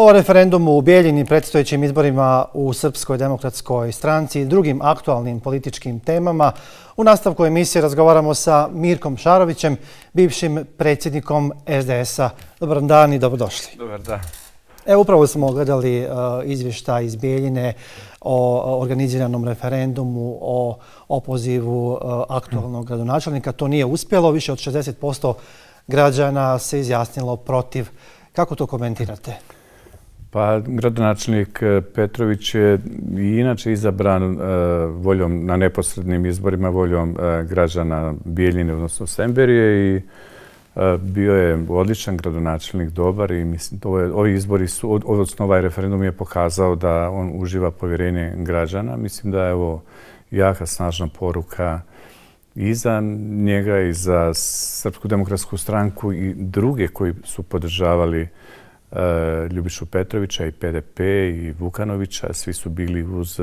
O referendumu u Bijeljini, predstojećim izborima u Srpskoj demokratskoj stranci i drugim aktualnim političkim temama u nastavku emisije razgovaramo sa Mirkom Šarovićem, bivšim predsjednikom SDS-a. Dobar dan i dobrodošli. Dobar dan. Evo, upravo smo gledali izvještaj iz Bijeljine o organiziranom referendumu, o opozivu aktualnog gradonačelnika. To nije uspjelo. Više od 60% građana se izjasnilo protiv. Kako to komentirate? Pa, gradonačelnik Petrović je i inače izabran voljom na neposrednim izborima, voljom građana Bijeljine, odnosno Semberije, i bio je odličan gradonačelnik, dobar, i mislim ovi izbori su, odnosno ovaj referendum je pokazao da on uživa povjerenje građana. Mislim da je ovo jaka, snažna poruka i za njega i za Srpsku demokratsku stranku i druge koji su podržavali Ljubišu Petrovića i PDP i Vukanovića. Svi su bili uz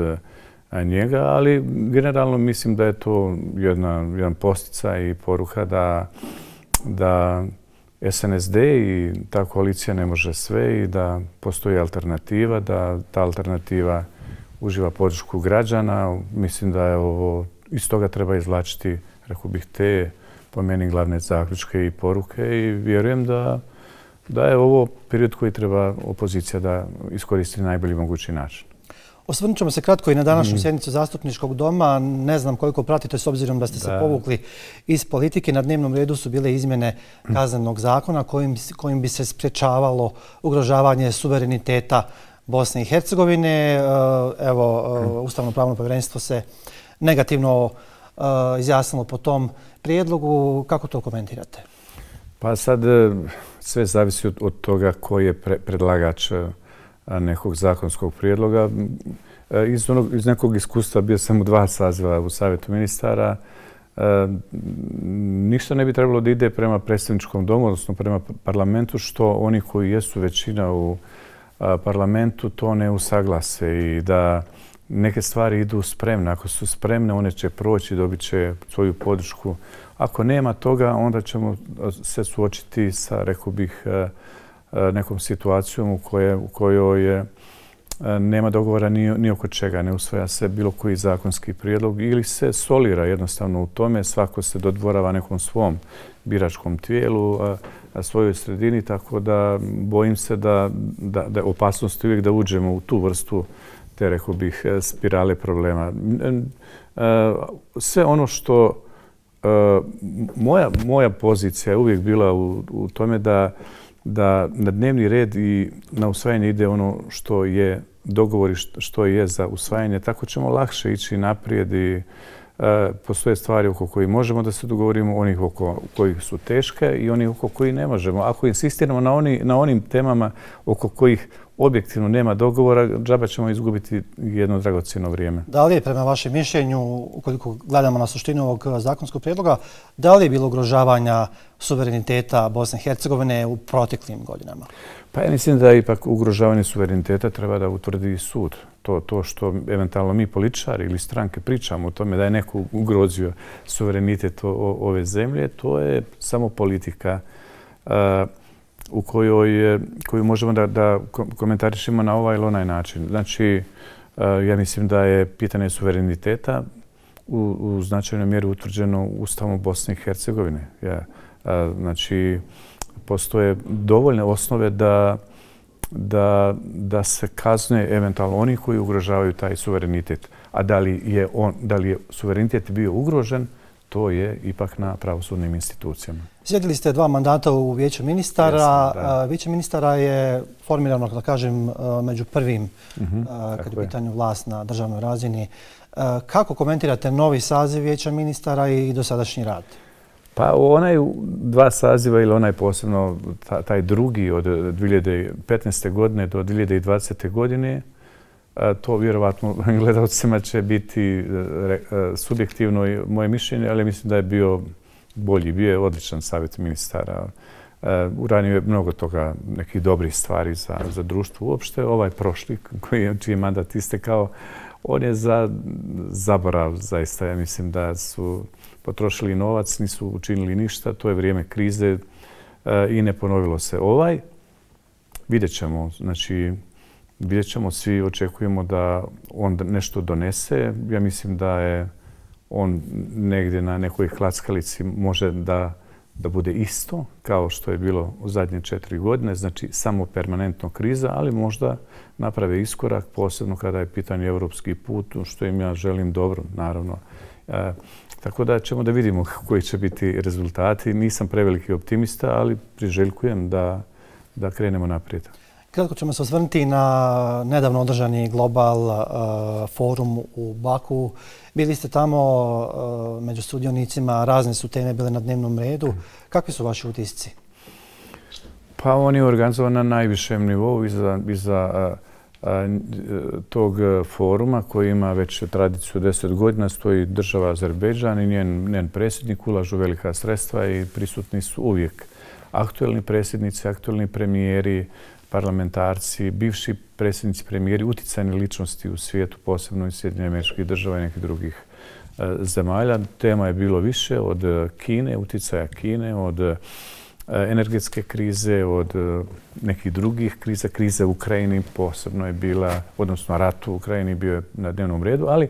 njega, ali generalno mislim da je to jedan posticaj i poruka da SNSD i ta koalicija ne može sve i da postoji alternativa, da ta alternativa uživa podršku građana. Mislim da je ovo, iz toga treba izvlačiti, rekao bih, te po meni glavne zaključke i poruke, i vjerujem da je ovo period koji treba opozicija da iskoristi na najbolji mogući način. Osvrnut ćemo se kratko i na današnju sjednicu Zastupničkog doma. Ne znam koliko pratite, s obzirom da ste se povukli iz politike. Na dnevnom redu su bile izmjene kaznenog zakona kojim bi se sprječavalo ugrožavanje suvereniteta Bosne i Hercegovine. Evo, Ustavno-pravno povjerenstvo se negativno izjasnilo po tom prijedlogu. Kako to komentirate? Pa sad sve zavisi od toga koji je predlagač nekog zakonskog prijedloga. Iz nekog iskustva, bio sam u 2 saziva u Savjetu ministara, ništa ne bi trebalo da ide prema predstavničkom domu, odnosno prema parlamentu, što oni koji jesu većina u parlamentu to ne usaglase, i da neke stvari idu spremne. Ako su spremne, one će proći, dobit će svoju podršku. Ako nema toga, onda ćemo se suočiti sa, rekao bih, nekom situacijom u kojoj nema dogovora ni oko čega. Ne usvaja se bilo koji zakonski prijedlog ili se solira jednostavno u tome. Svako se dodvorava nekom svom biračkom tijelu, svojoj sredini, tako da bojim se da je opasnost uvijek da uđemo u tu vrstu te, rekao bih, spirale problema. Sve ono što moja pozicija je uvijek bila u tome da na dnevni red i na usvajanje ide ono što je dogovor i što je za usvajanje. Tako ćemo lakše ići naprijed, i postoje stvari oko kojih možemo da se dogovorimo, onih oko kojih su teške i onih oko kojih ne možemo. Ako insistiramo na onim temama oko kojih objektivno nema dogovora, džaba ćemo izgubiti jedno dragocjeno vrijeme. Da li je, prema vašem mišljenju, ukoliko gledamo na suštinu ovog zakonskog prijedloga, da li je bilo ugrožavanja suvereniteta Bosne i Hercegovine u proteklim godinama? Pa ja mislim da ipak ugrožavanje suvereniteta treba da utvrdi sud. To što eventualno mi političari ili stranke pričamo o tome da je neko ugrozio suverenitet ove zemlje, to je samo politika u koju možemo da komentarišemo na ovaj ili onaj način. Znači, ja mislim da je pitanje suvereniteta u značajnoj mjeri utvrđeno Ustavom Bosne i Hercegovine. Znači, postoje dovoljne osnove da se kazne eventualno oni koji ugrožavaju taj suverenitet. A da li je suverenitet bio ugrožen, to je ipak na pravosudnim institucijama. Sjedili ste 2 mandata u Vijeću ministara. Vijeće ministara je formirano, da kažem, među prvim kad je u pitanju vlast na državnoj razini. Kako komentirate novi saziv Vijeća ministara i dosadašnji rad? Pa onaj 2 saziva ili onaj posebno taj drugi od 2015. godine do 2020. godine, to vjerovatno gledalcima će biti subjektivno moje mišljenje, ali mislim da je bio bolji. Bio je odličan savjet ministara. Uradio je mnogo toga, nekih dobrih stvari za društvo uopšte. Ovaj prošli, čiji je mandat istekao, on je za zaborav, zaista. Ja mislim da su potrošili novac, nisu učinili ništa. To je vrijeme krize i ne ponovilo se. Ovaj vidjet ćemo. Znači, vidjet ćemo, svi očekujemo da on nešto donese. Ja mislim da je on negdje na nekoj klackalici može da bude isto kao što je bilo u zadnje 4 godine. Znači, samo permanentno kriza, ali možda naprave iskorak, posebno kada je pitanje evropski put, što im ja želim dobro, naravno. Tako da ćemo da vidimo koji će biti rezultati. Nisam preveliki optimista, ali priželjkujem da krenemo naprijed. Kratko ćemo se osvrnuti na nedavno održani Global forum u Baku. Bili ste tamo među sudionicima, razne su teme bile na dnevnom redu. Kakvi su vaši utisci? Pa on je organizovan na najvišem nivou iza tog foruma koji ima već tradiciju 10 godina. Stoji država Azerbejdžan i njen predsjednik, ulažu velika sredstva i prisutni su uvijek aktuelni predsjednici, aktuelni premijeri, parlamentarci, bivši predsjednici, premijeri, uticajne ličnosti u svijetu, posebno iz Sjedinjenih Američkih Država i nekih drugih zemalja. Tema je bilo više od Kine, uticaja Kine, od energetske krize, od nekih drugih kriza. Kriza u Ukrajini posebno je bila, odnosno rat u Ukrajini bio je na dnevnom redu, ali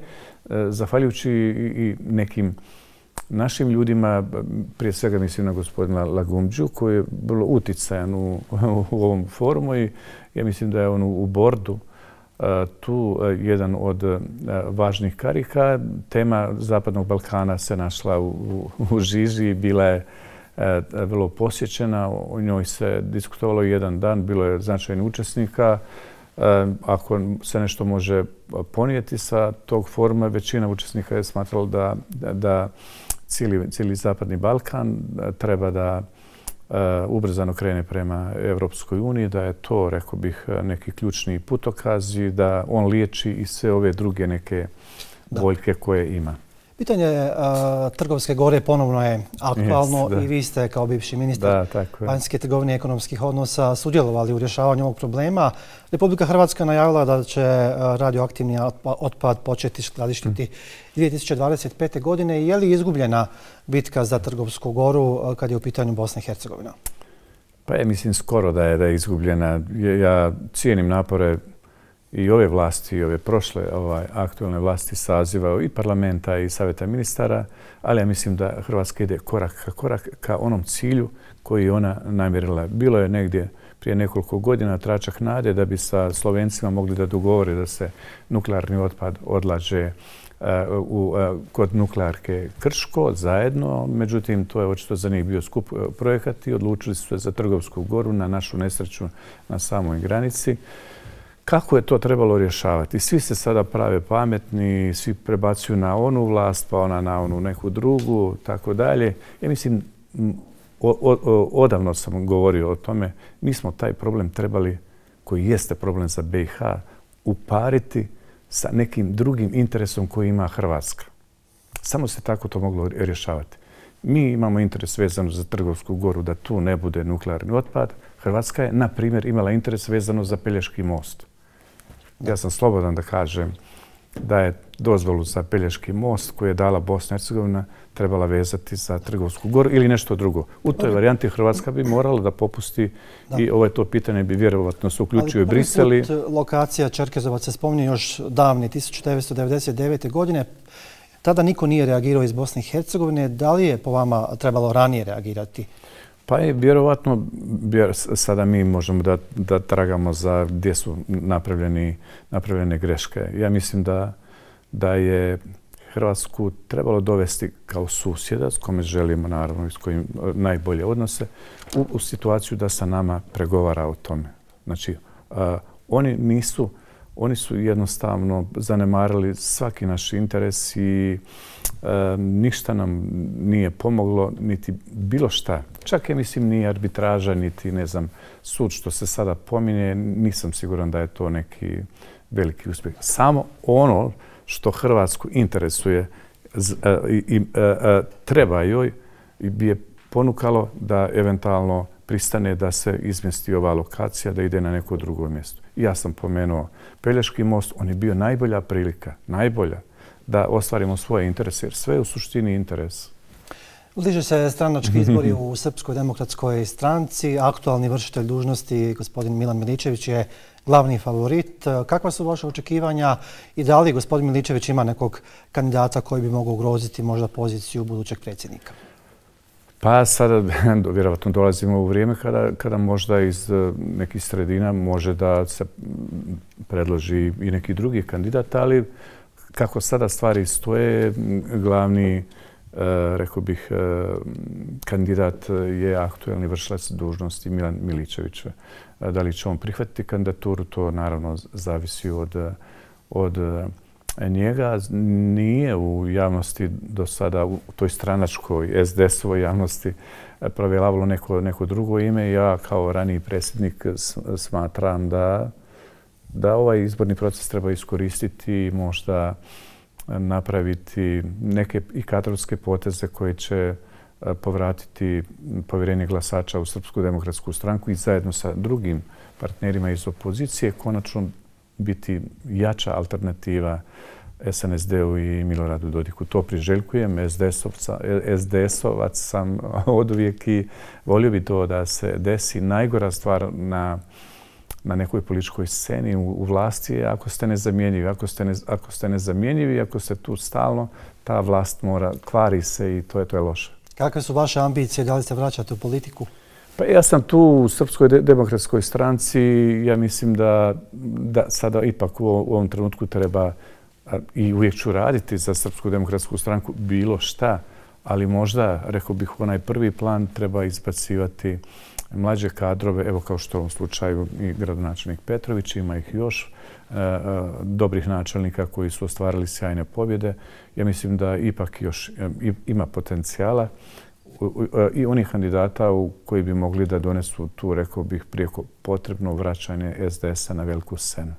zahvaljujući i nekim našim ljudima, prije svega mislim na gospodina Lagumđu, koji je vrlo uticajan u ovom forumu i ja mislim da je on u bordu tu jedan od važnih karika. Tema Zapadnog Balkana se našla u žiži, bila je vrlo posjećena, o njoj se diskutovalo jedan dan, bilo je značajnih učesnika. Ako se nešto može ponijeti sa tog foruma, većina učesnika je smatrala da cijeli Zapadni Balkan treba da ubrzano krene prema Evropskoj uniji, da je to, rekao bih, neki ključni putokaz i da on liječi i sve ove druge neke boljke koje ima. Pitanje Trgovske gore ponovno je aktualno i vi ste kao bivši ministar vanjske trgovine i ekonomskih odnosa sudjelovali u rješavanju ovog problema. Republika Hrvatska najavila da će radioaktivni otpad početi skladištiti 2025. godine. Je li izgubljena bitka za Trgovsku goru kad je u pitanju Bosna i Hercegovina? Pa ja mislim skoro da je izgubljena. Ja cijenim napore i ove vlasti i ove prošle aktualne vlasti saziva i parlamenta i savjeta ministara, ali ja mislim da Hrvatska ide korak ka onom cilju koji je ona namjerila. Bilo je negdje prije nekoliko godina tračak nade da bi sa Slovencima mogli da dogovore da se nuklearni otpad odlaže kod nuklearke Krško zajedno. Međutim, to je očito za njih bio skup projekat i odlučili su se za Trgovsku goru, na našu nesreću na samoj granici. Kako je to trebalo rješavati? Svi se sada prave pametni, svi prebacuju na onu vlast, pa ona na onu neku drugu, tako dalje. Ja mislim, odavno sam govorio o tome, mi smo taj problem trebali, koji jeste problem za BiH, upariti sa nekim drugim interesom koji ima Hrvatska. Samo se tako to moglo rješavati. Mi imamo interes vezano za Trgovsku goru da tu ne bude nuklearni otpad. Hrvatska je, na primjer, imala interes vezano za Pelješki most. Ja sam slobodan da kažem da je dozvolu za Pelješki most koju je dala Bosna i Hercegovina trebala vezati za Trgovsku goru ili nešto drugo. U toj varijanti Hrvatska bi morala da popusti i to pitanje bi vjerovatno se uključio i Brisel. Ali prvi put lokacija Čerkezovac se spominje još davne 1999. godine. Tada niko nije reagirao iz Bosne i Hercegovine. Da li je po vama trebalo ranije reagirati? Pa je vjerovatno, sada mi možemo da tragamo za gdje su napravljene greške. Ja mislim da je Hrvatsku trebalo dovesti kao susjeda, s kome želimo naravno i s kojim najbolje odnose, u situaciju da sa nama pregovara o tome. Znači, oni su jednostavno zanemarili svaki naš interes i ništa nam nije pomoglo, niti bilo šta. Čak je, mislim, ni arbitraža, niti, ne znam, sud što se sada pominje, nisam siguran da je to neki veliki uspjeh. Samo ono što Hrvatsku interesuje i treba joj bi je ponukalo da eventualno pristane da se izmjesti ova lokacija, da ide na neko drugo mjesto. Ja sam pomenuo Pelješki most, on je bio najbolja prilika, najbolja, da ostvarimo svoje interese, jer sve je u suštini interes. Bliže se stranački izbori u Srpskoj demokratskoj stranci. Aktualni vršitelj dužnosti, gospodin Milan Miličević, je glavni favorit. Kakva su vaše očekivanja i da li gospodin Miličević ima nekog kandidata koji bi mogao ugroziti možda poziciju budućeg predsjednika? Pa sada vjerovatno dolazimo u vrijeme kada možda iz nekih sredina može da se predloži i neki drugi kandidat, ali kako sada stvari stoje, glavni, rekao bih, kandidat je aktuelni vršilac dužnosti Milan Miličević. Da li će on prihvatiti kandidaturu, to naravno zavisi od njega. Nije u javnosti do sada, u toj stranačkoj SDS-ovoj javnosti, provjeravalo neko drugo ime. Ja kao raniji predsjednik smatram da ovaj izborni proces treba iskoristiti i možda napraviti neke i kadrovske poteze koje će povratiti povjerenje glasača u Srpsku demokratsku stranku i zajedno sa drugim partnerima iz opozicije konačno biti jača alternativa SNSD-u i Miloradu Dodiku. To priželjkujem. SDS-ovac sam oduvijek i volio bi to da se desi. Najgora stvar na nekoj političkoj sceni u vlasti je ako ste nezamjenjivi. Ako ste nezamjenjivi, ako ste tu stalno, ta vlast kvari se i to je loše. Kakve su vaše ambicije? Da li se vraćate u politiku? Pa ja sam tu u Srpskoj demokratskoj stranci. Ja mislim da sada ipak u ovom trenutku treba i uvijek ću raditi za Srpsku demokratsku stranku bilo šta, ali možda, rekao bih, onaj prvi plan treba izbacivati mlađe kadrove, evo kao što u ovom slučaju i gradonačelnik Petrović, ima ih još dobrih načelnika koji su ostvarili sjajne pobjede. Ja mislim da ipak još ima potencijala i onih kandidata koji bi mogli da donesu tu, rekao bih, prijeko potrebno vraćanje SDS-a na veliku scenu.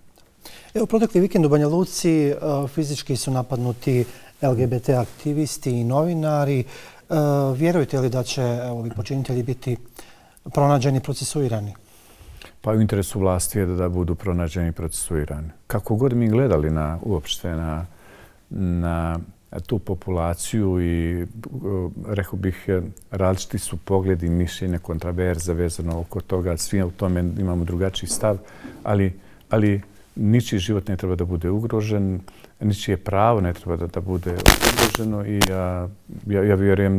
Evo, protekli vikend u Banja Luci fizički su napadnuti LGBT aktivisti i novinari. Vjerujete li da će ovi počinitelji biti pronađeni i procesuirani? Pa u interesu vlasti je da budu pronađeni i procesuirani. Kako god mi gledali uopšte na tu populaciju i, rekao bih, različiti su pogledi i mišljenje, kontraverze vezano oko toga. Svi u tome imamo drugačiji stav, ali ničiji život ne treba da bude ugrožen, ničije pravo ne treba da bude ugroženo i ja vjerujem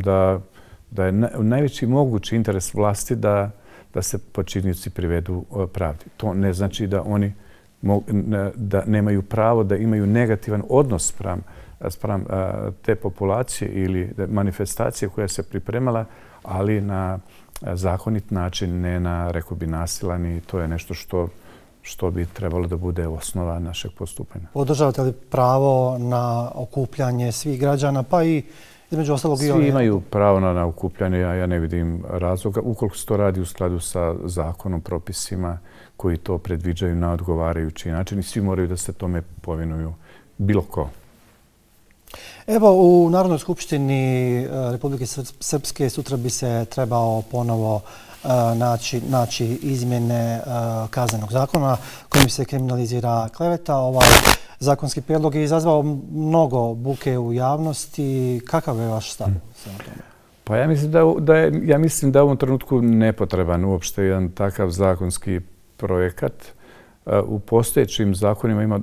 da je najveći mogući interes vlasti da se počinioci privedu pravdi. To ne znači da oni da nemaju pravo da imaju negativan odnos spram te populacije ili manifestacije koja se pripremala, ali na zakonit način, ne na, rekao bi, nasilan, i to je nešto što bi trebalo da bude osnova našeg postupanja. Podržavate li pravo na okupljanje svih građana, pa i između ostalog i svi imaju pravo na okupljanje, ja ne vidim razloga, ukoliko se to radi u skladu sa zakonom, propisima koji to predviđaju na odgovarajući način i svi moraju da se tome povinuju, bilo ko. Evo, u Narodnoj skupštini Republike Srpske sutra bi se trebao ponovo naći izmjene kaznenog zakona kojim se kriminalizira kleveta. Ovaj zakonski prijedlog je izazvao mnogo buke u javnosti. Kakav je vaš stav na tome? Pa ja mislim da u ovom trenutku nepotreban uopšte jedan takav zakonski projekat. U postojećim zakonima ima,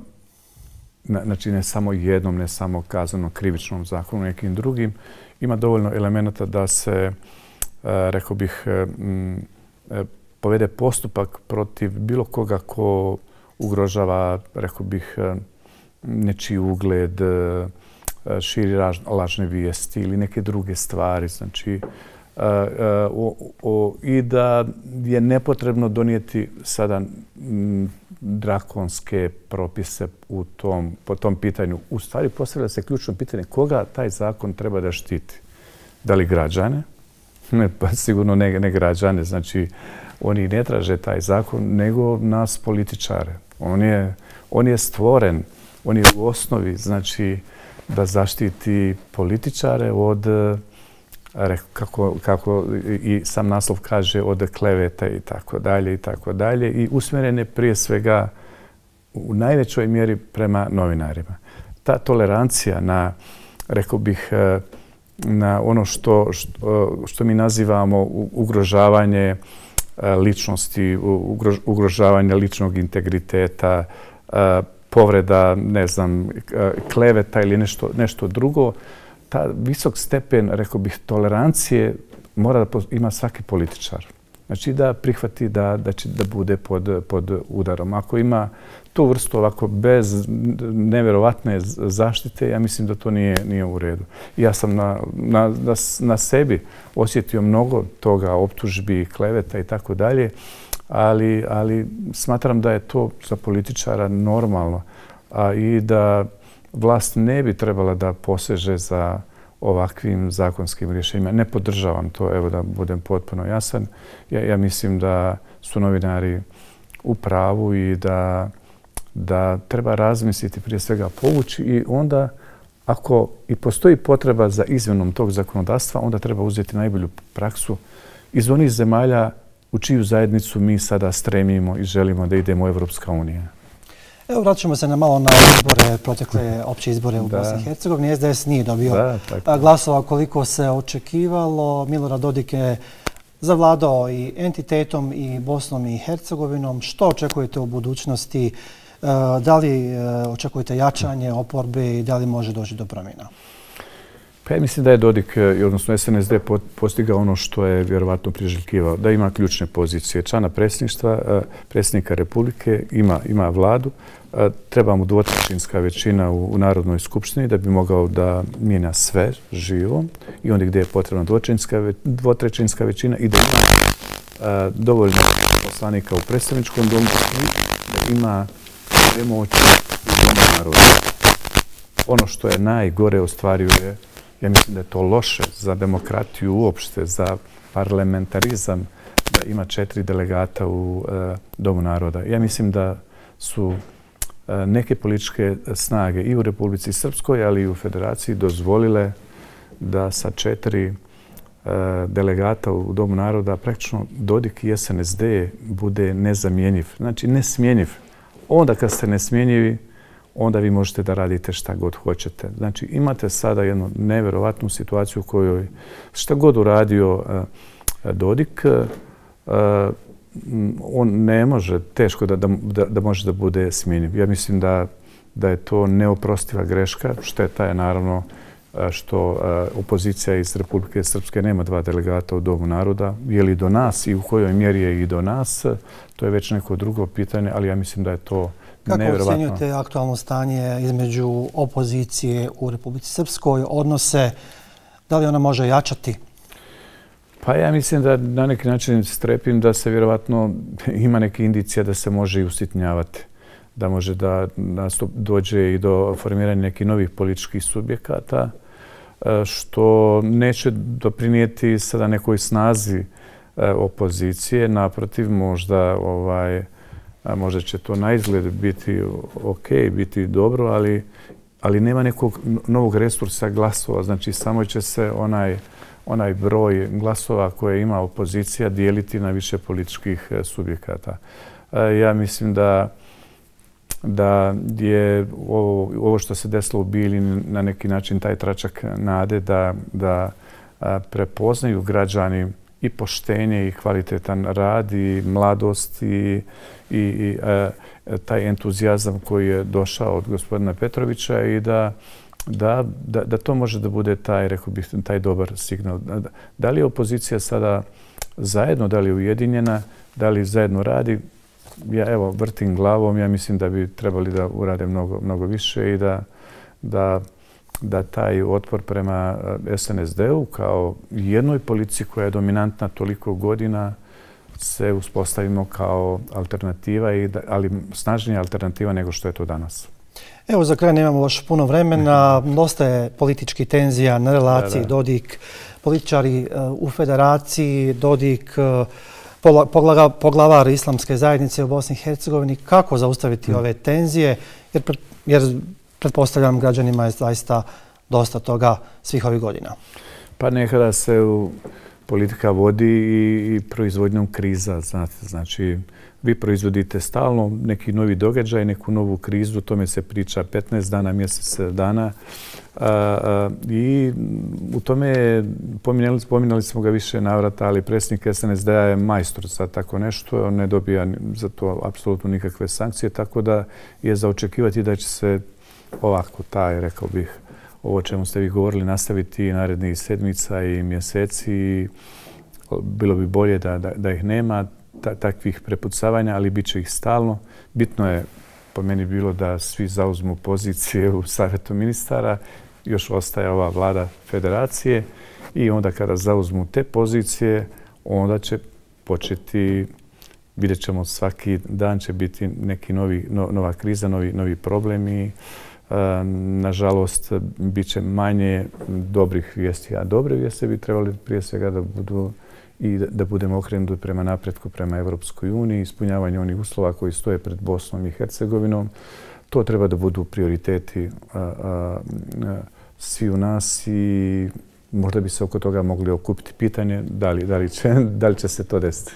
znači ne samo jednom, ne samo kaznenom krivičnom zakonu, nekim drugim, ima dovoljno elemenata da se, rekao bih, povede postupak protiv bilo koga ko ugrožava, rekao bih, nečiji ugled, širi lažne vijesti ili neke druge stvari. Znači, i da je nepotrebno donijeti sada drakonske propise po tom pitanju. U stvari postavlja se ključno pitanje koga taj zakon treba da štiti. Da li građane? Pa sigurno ne građane. Znači, oni ne traže taj zakon, nego nas političare. On je stvoren, on je u osnovi, znači, da zaštiti političare od, kako i sam naslov kaže, od kleveta i tako dalje i tako dalje, i usmjerene prije svega u najvećoj mjeri prema novinarima. Ta tolerancija na, rekao bih, na ono što mi nazivamo ugrožavanje ličnosti, ugrožavanje ličnog integriteta, povreda, ne znam, kleveta ili nešto drugo. Ta visok stepen, rekao bih, tolerancije mora da ima svaki političar. Znači da prihvati da će da bude pod udarom. Ako ima tu vrstu ovako bez nevjerovatne zaštite, ja mislim da to nije u redu. Ja sam na sebi osjetio mnogo toga, optužbi, kleveta i tako dalje, ali smatram da je to za političara normalno i da vlast ne bi trebala da poseže za ovakvim zakonskim rješenjima. Ne podržavam to, evo da budem potpuno jasan. Ja mislim da su novinari u pravu i da treba razmisliti, prije svega povući, i onda ako i postoji potreba za izmjenom tog zakonodavstva, onda treba uzeti najbolju praksu iz onih zemalja u čiju zajednicu mi sada stremimo i želimo da idemo u Evropska unija. Evo, vraćamo se malo na izbore, protekle opće izbore u Bosni i Hercegovini. SDS nije dobio glasova koliko se očekivalo. Milorad Dodik je zavladao i entitetom i Bosnom i Hercegovinom. Što očekujete u budućnosti? Da li očekujete jačanje oporbe i da li može doći do promjena? Pa ja mislim da je Dodik, odnosno SNSD, postigao ono što je vjerovatno priželjkivao, da ima ključne pozicije člana predsjedništva, predsjednika Republike, ima vladu, treba mu dvotrećinska većina u Narodnoj skupštini da bi mogao da mijenja sve živo i onda gdje je potrebna dvotrećinska većina i da ima dovoljno poslanika u predstavničkom domu i da ima sve moći u domu naroda. Ono što je najgore ostvaruje, ja mislim da je to loše za demokratiju uopšte, za parlamentarizam, da ima 4 delegata u Domu naroda. Ja mislim da su neke političke snage i u Republici Srpskoj, ali i u Federaciji dozvolile da sa 4 delegata u Domu naroda praktično Dodik i SNSD bude nezamjenjiv. Znači nesmjenjiv. Onda kad ste nesmjenjivi, onda vi možete da radite šta god hoćete. Znači imate sada jednu nevjerovatnu situaciju u kojoj šta god uradio Dodik, on ne može, teško da može da bude smjenjiv. Ja mislim da je to neoprostiva greška. Šteta je naravno što opozicija iz Republike Srpske nema 2 delegata u Domu naroda. Je li do nas i u kojoj mjeri je i do nas, to je već neko drugo pitanje, ali ja mislim da je to nevjerovatno. Kako ocjenjujete aktualno stanje između opozicije u Republici Srpskoj, odnose, da li ona može jačati? Pa ja mislim da na neki način strepim da se vjerovatno ima neke indicija da se može i usitnjavati. Da može da dođe i do formiranja nekih novih političkih subjekata, što neće doprinijeti sada nekoj snazi opozicije. Naprotiv, možda će to na izgled biti ok, biti dobro, ali nema nekog novog resursa glasova. Znači, samo će se onaj broj glasova koje ima opozicija dijeliti na više političkih subjekata. Ja mislim da je ovo što se desilo u Bijeljini na neki način taj tračak nade da prepoznaju građani i poštenje i kvalitetan rad i mladost i taj entuzijazam koji je došao od gospodina Petrovića i da to može da bude taj, rekao bih, taj dobar signal. Da li je opozicija sada zajedno, da li je ujedinjena, da li zajedno radi? Ja evo vrtim glavom, ja mislim da bi trebali da urade mnogo više i da taj otpor prema SNSD-u kao jednoj politici koja je dominantna toliko godina se uspostavimo kao alternativa, ali snažnija alternativa nego što je to danas. Evo, za kraj nemamo još puno vremena. Dosta je političkih tenzija na relaciji Dodik, političari u Federaciji, Dodik, poglavar islamske zajednice u Bosni i Hercegovini. Kako zaustaviti ove tenzije? Jer pretpostavljam građanima je zaista dosta toga svih ovih godina. Pa nekada se politika vodi i proizvodnjom kriza. Znači, vi proizvodite stalno neki novi događaj, neku novu krizu, o tome se priča 15 dana, mjesec dana. I u tome pominjali smo ga više navrata, ali predsjednik SNSD-a je majstor za tako nešto. On ne dobija za to apsolutno nikakve sankcije, tako da je za očekivati da će se ovako rekao bih, ovo čemu ste vi govorili, nastaviti narednih sedmica i mjeseci. Bilo bi bolje da ih nema, takvih prepucavanja, ali bit će ih stalno. Bitno je po meni bilo da svi zauzmu pozicije u Savjetu ministara. Još ostaje ova vlada federacije i onda kada zauzmu te pozicije, onda će početi, vidjet ćemo svaki dan će biti neki nova kriza, novi problemi. Nažalost, bit će manje dobrih vijesti, a dobre vijesti bi trebali prije svega da budu i da budemo okrenuti prema napretku, prema Europskoj uniji, ispunjavanju onih uslova koji stoje pred Bosnom i Hercegovinom. To treba da budu prioriteti svi u nas i možda bi se oko toga mogli okupiti pitanje da li će se to desiti.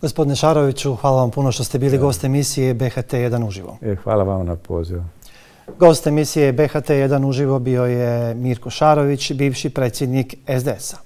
Gospodine Šaroviću, hvala vam puno što ste bili gost emisije BHT1 uživo. Hvala vam na pozivu. Gost emisije BHT1 uživo bio je Mirko Šarović, bivši predsjednik SDS-a.